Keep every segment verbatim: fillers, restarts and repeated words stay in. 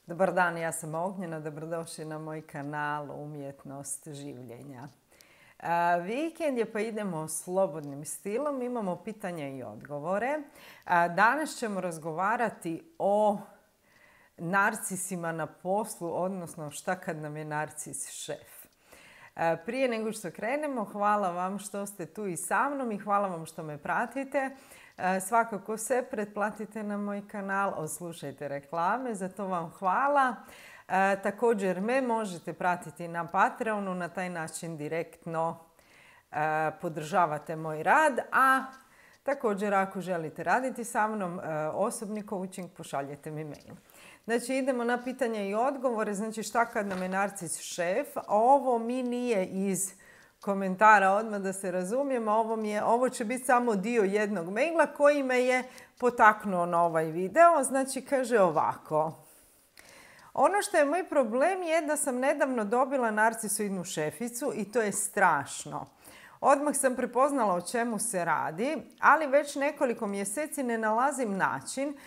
Dobar dan, ja sam Ognjena, dobrodošli na moj kanal Umjetnost življenja. A, vikend je pa idemo slobodnim stilom, imamo pitanja i odgovore. A, danas ćemo razgovarati o narcisima na poslu, odnosno šta kad nam je narcis šef. A, prije nego što krenemo, hvala vam što ste tu i sa mnom i hvala vam što me pratite. Svakako se pretplatite na moj kanal, odslušajte reklame, za to vam hvala. E, također me možete pratiti na Patreonu, na taj način direktno e, podržavate moj rad, a također ako želite raditi sa mnom e, osobni coaching, pošaljete mi mail. Znači idemo na pitanja i odgovore, znači šta kad nam je narcis šef, ovo mi nije iz komentara, odmah da se razumijemo, ovo, mi je, ovo će biti samo dio jednog maila koji me je potaknuo na ovaj video. Znači kaže ovako. Ono što je moj problem je da sam nedavno dobila narcisoidnu šeficu i to je strašno. Odmah sam prepoznala o čemu se radi, ali već nekoliko mjeseci ne nalazim način,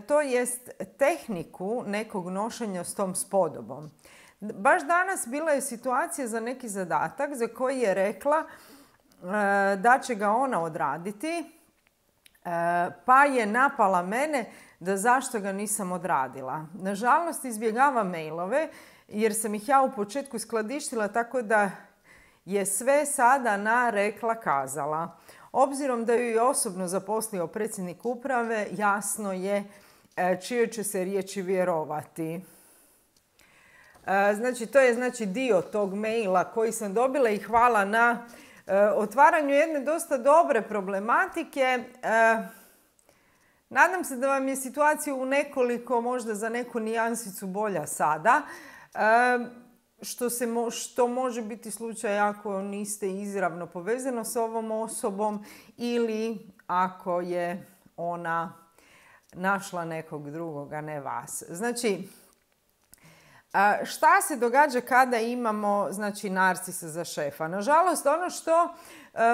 to jest tehniku nekog nošenja s tom spodobom. Baš danas bila je situacija za neki zadatak za koji je rekla e, da će ga ona odraditi, e, pa je napala mene da zašto ga nisam odradila. Nažalost izbjegava mailove jer sam ih ja u početku skladištila tako da je sve sada na rekla kazala. Obzirom da ju je osobno zaposlio predsjednik uprave, jasno je e, čije će se riječi vjerovati. Znači, to je znači dio tog maila koji sam dobila i hvala na e, otvaranju jedne dosta dobre problematike. E, nadam se da vam je situacija u nekoliko, možda za neku nijansicu bolja sada. E, što, se mo, što može biti slučaj ako niste izravno povezano s ovom osobom ili ako je ona našla nekog drugog, a ne vas. Znači, šta se događa kada imamo znači, narcisa za šefa? Nažalost, ono što,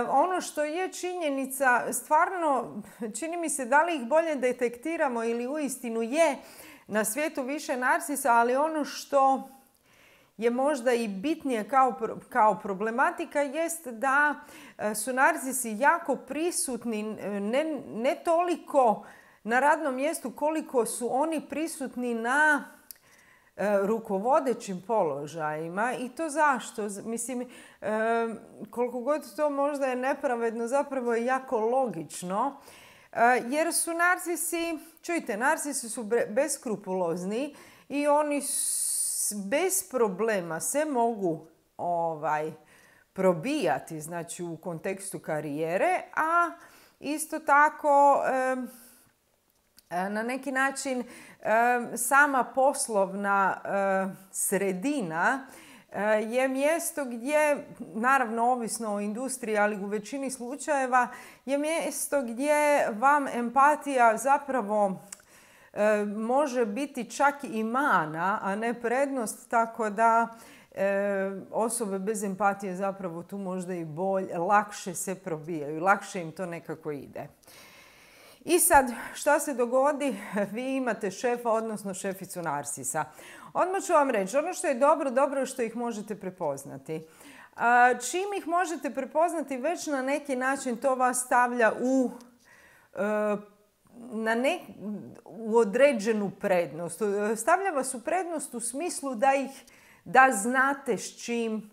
ono što je činjenica, stvarno čini mi se da li ih bolje detektiramo ili uistinu je na svijetu više narcisa, ali ono što je možda i bitnije kao, kao problematika jest da su narcisi jako prisutni, ne, ne toliko na radnom mjestu koliko su oni prisutni na rukovodećim položajima. I to zašto? Mislim, koliko god to možda je nepravedno, zapravo je jako logično. Jer su narcisi, čujte, narcisi su beskrupulozni i oni bez problema se mogu ovaj, probijati, znači u kontekstu karijere, a isto tako na neki način sama poslovna sredina je mjesto gdje, naravno ovisno o industriji, ali u većini slučajeva, je mjesto gdje vam empatija zapravo može biti čak i mana, a ne prednost, tako da osobe bez empatije zapravo tu možda i bolje, lakše se probijaju, lakše im to nekako ide. I sad, šta se dogodi? Vi imate šefa, odnosno šeficu narcisa. Odmah ću vam reći, ono što je dobro, dobro je što ih možete prepoznati. Čim ih možete prepoznati, već na neki način to vas stavlja u, na ne, u određenu prednost. Stavlja vas u prednost u smislu da ih, da znate s čim,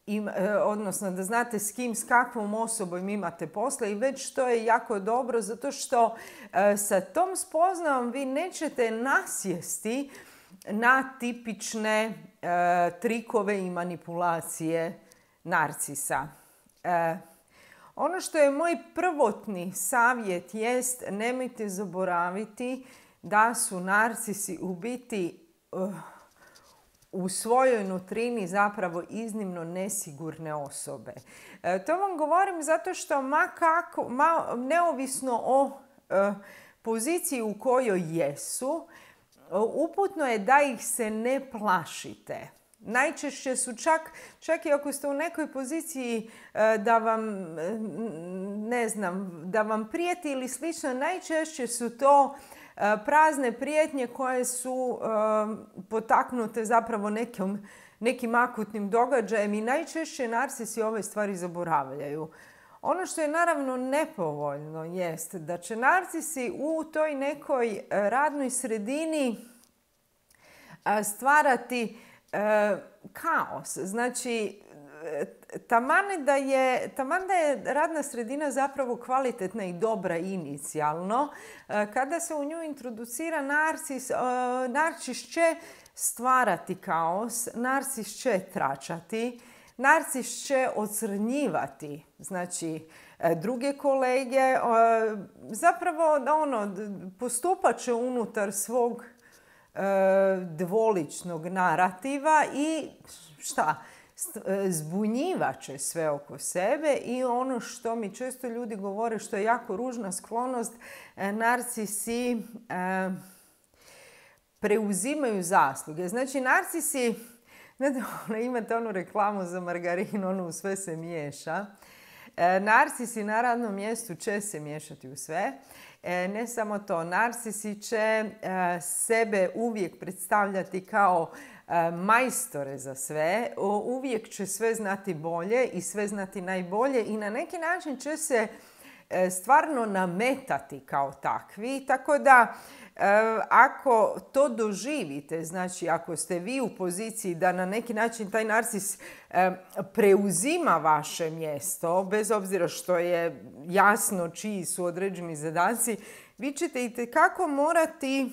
Im, odnosno da znate s kim, s kakvom osobom imate posla i već to je jako dobro zato što e, sa tom spoznajom vi nećete nasjesti na tipične e, trikove i manipulacije narcisa. E, ono što je moj prvotni savjet jest nemojte zaboraviti da su narcisi u biti uh, u svojoj nutrini zapravo iznimno nesigurne osobe. E, to vam govorim zato što ma kako, ma, neovisno o e, poziciji u kojoj jesu, uputno je da ih se ne plašite. Najčešće su čak, čak i ako ste u nekoj poziciji e, da vam, ne znam, da vam prijeti ili slično, najčešće su to prazne prijetnje koje su potaknute zapravo nekim, nekim akutnim događajem i najčešće narcisi ove stvari zaboravljaju. Ono što je naravno nepovoljno jest da će narcisi u toj nekoj radnoj sredini stvarati kaos. Znači, taman da je, taman da je radna sredina zapravo kvalitetna i dobra inicijalno, kada se u nju introducira narcis, narcis će stvarati kaos, narcis će tračati, narcis će ocrnjivati, znači, druge kolege, zapravo ono, postupat će unutar svog dvoličnog narativa i šta? Zbunjivat će sve oko sebe i ono što mi često ljudi govore, što je jako ružna sklonost, narcisi e, preuzimaju zasluge. Znači, narcisi, ne, imate onu reklamu za margarin, onu sve se miješa. E, narcisi na radnom mjestu će se miješati u sve. E, ne samo to, narcisi će e, sebe uvijek predstavljati kao e, majstore za sve, o, uvijek će sve znati bolje i sve znati najbolje i na neki način će se e, stvarno nametati kao takvi, tako da e, ako to doživite, znači ako ste vi u poziciji da na neki način taj narcis e, preuzima vaše mjesto, bez obzira što je jasno čiji su određeni zadaci, vi ćete itekako morati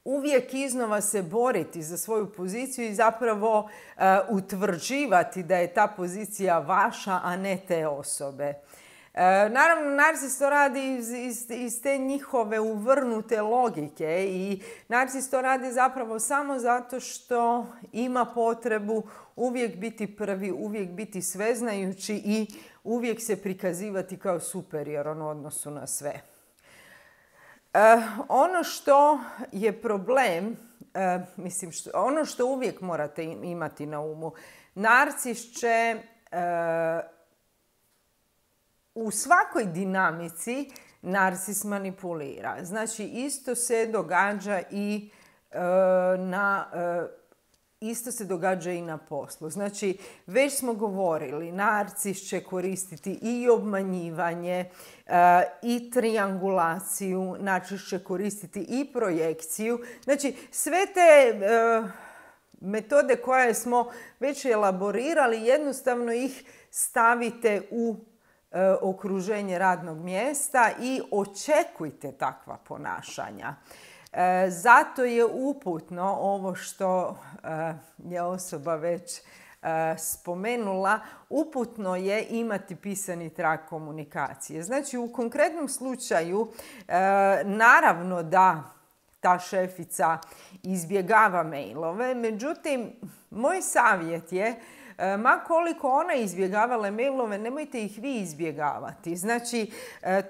uvijek iznova se boriti za svoju poziciju i zapravo uh, utvrđivati da je ta pozicija vaša, a ne te osobe. Uh, naravno, narcis to radi iz, iz, iz te njihove uvrnute logike i narcis to radi zapravo samo zato što ima potrebu uvijek biti prvi, uvijek biti sveznajući i uvijek se prikazivati kao superioran u odnosu na sve. Uh, ono što je problem, uh, mislim, što, ono što uvijek morate imati na umu, narcis će uh, u svakoj dinamici narcis manipulira. Znači, isto se događa i uh, na... Uh, Isto se događa i na poslu. Znači, već smo govorili, narcis će koristiti i obmanjivanje, uh, i triangulaciju, narcis će koristiti i projekciju. Znači, sve te uh, metode koje smo već elaborirali, jednostavno ih stavite u uh, okruženje radnog mjesta i očekujte takva ponašanja. E, zato je uputno ovo što e, je osoba već e, spomenula, uputno je imati pisani trag komunikacije. Znači, u konkretnom slučaju, e, naravno da ta šefica izbjegava mailove, međutim, moj savjet je, ma koliko ona izbjegavala mailove, nemojte ih vi izbjegavati. Znači,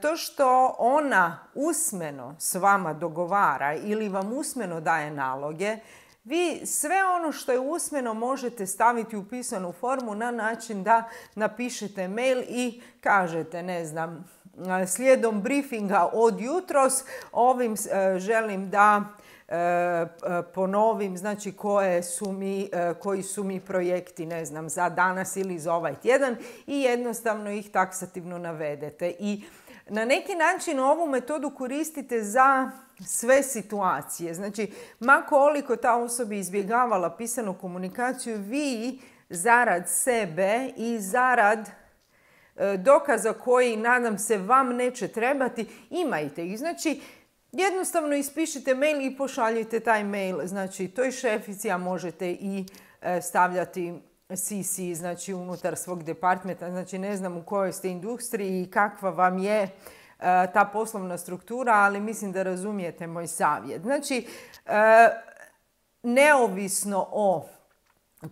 to što ona usmeno s vama dogovara ili vam usmeno daje naloge, vi sve ono što je usmeno možete staviti u pisanu formu na način da napišete mail i kažete, ne znam, slijedom briefinga od jutros, ovim želim da ponovim, znači koje su mi, koji su mi projekti, ne znam, za danas ili za ovaj tjedan i jednostavno ih taksativno navedete. I na neki način ovu metodu koristite za sve situacije. Znači, ma koliko ta osoba izbjegavala pisanu komunikaciju, vi zarad sebe i zarad dokaza koji, nadam se, vam neće trebati, imajte ih. Znači, jednostavno ispišite mail i pošaljite taj mail, znači, toj šefici, a možete i stavljati C C, znači, unutar svog departmenta. Znači, ne znam u kojoj ste industriji i kakva vam je ta poslovna struktura, ali mislim da razumijete moj savjet. Znači, neovisno o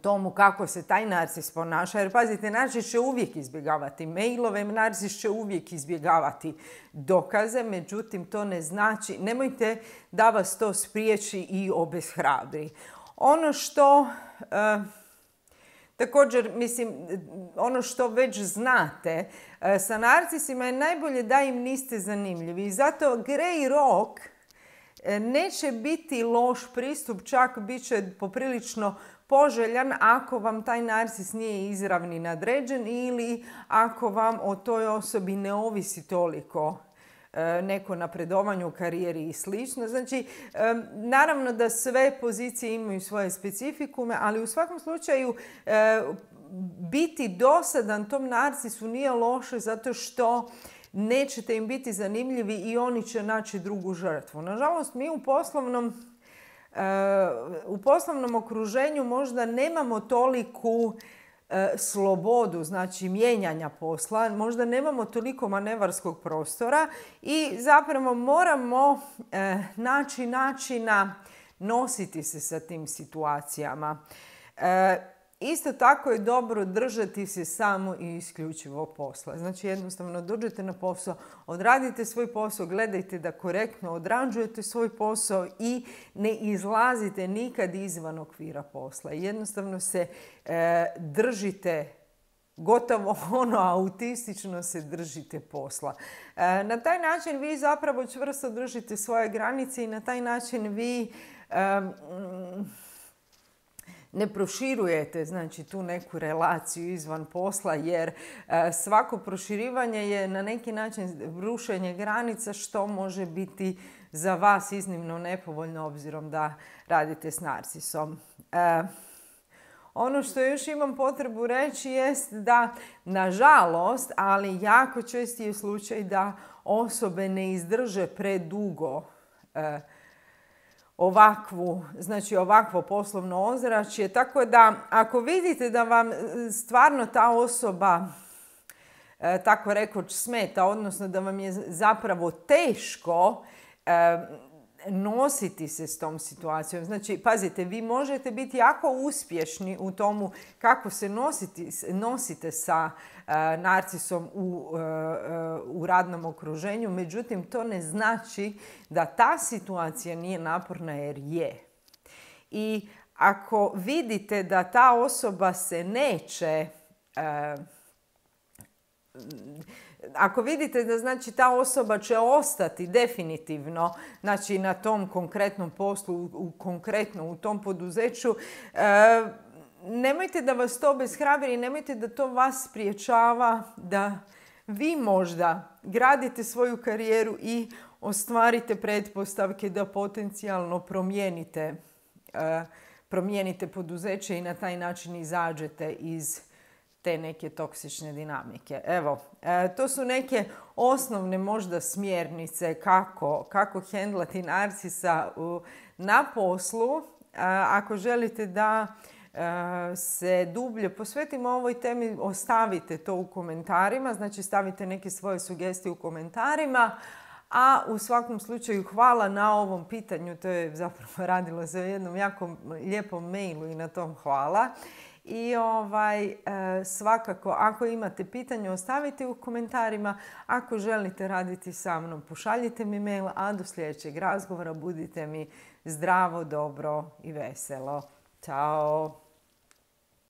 tomu kako se taj narcis ponaša, jer pazite, narcis će uvijek izbjegavati mailove, narcis će uvijek izbjegavati dokaze, međutim to ne znači, nemojte da vas to spriječi i obeshrabri. Ono što, Također, mislim, ono što već znate, sa narcisima je najbolje da im niste zanimljivi. I zato grey rock neće biti loš pristup, čak bit će poprilično poželjan ako vam taj narcis nije izravni nadređen ili ako vam o toj osobi ne ovisi toliko neko napredovanje u karijeri i slično. Znači, naravno da sve pozicije imaju svoje specifikume, ali u svakom slučaju biti dosadan tom narcisu nije loše zato što nećete im biti zanimljivi i oni će naći drugu žrtvu. Nažalost, mi u poslovnom, u poslovnom okruženju možda nemamo toliku slobodu, znači mijenjanja posla, možda nemamo toliko manevarskog prostora i zapravo moramo naći načina nositi se sa tim situacijama. Isto tako je dobro držati se samo i isključivo posla. Znači jednostavno dođete na posao, odradite svoj posao, gledajte da korektno odrađujete svoj posao i ne izlazite nikad izvan okvira posla. Jednostavno se e, držite, gotovo ono autistično se držite posla. E, na taj način vi zapravo čvrsto držite svoje granice i na taj način vi e, ne proširujete, znači, tu neku relaciju izvan posla, jer e, svako proširivanje je na neki način rušenje granica, što može biti za vas iznimno nepovoljno obzirom da radite s narcisom. E, ono što još imam potrebu reći jest da, nažalost, ali jako česti je slučaj da osobe ne izdrže predugo e, ovakvu, znači ovakvo poslovno ozračje. Tako da ako vidite da vam stvarno ta osoba e, tako rekoć smeta, odnosno da vam je zapravo teško e, nositi se s tom situacijom. Znači, pazite, vi možete biti jako uspješni u tomu kako se nositi, nosite sa uh, narcisom u, uh, uh, u radnom okruženju, međutim, to ne znači da ta situacija nije naporna, jer je. I ako vidite da ta osoba se neće uh, Ako vidite da, znači, ta osoba će ostati definitivno, znači, na tom konkretnom poslu, u, konkretno u tom poduzeću, e, nemojte da vas to obeshrabri, nemojte da to vas spriječava da vi možda gradite svoju karijeru i ostvarite pretpostavke da potencijalno promijenite, e, promijenite poduzeće i na taj način izađete iz te neke toksične dinamike. Evo, e, to su neke osnovne možda smjernice kako, kako hendlati narcisa u, na poslu. E, ako želite da e, se dublje posvetimo ovoj temi, ostavite to u komentarima, znači stavite neke svoje sugestije u komentarima. A u svakom slučaju hvala na ovom pitanju, to je zapravo radilo se o jednom jako lijepom mailu i na tom hvala. I ovaj, svakako, ako imate pitanje, ostavite u komentarima. Ako želite raditi sa mnom, pošaljite mi mail, a do sljedećeg razgovora budite mi zdravo, dobro i veselo. Ćao!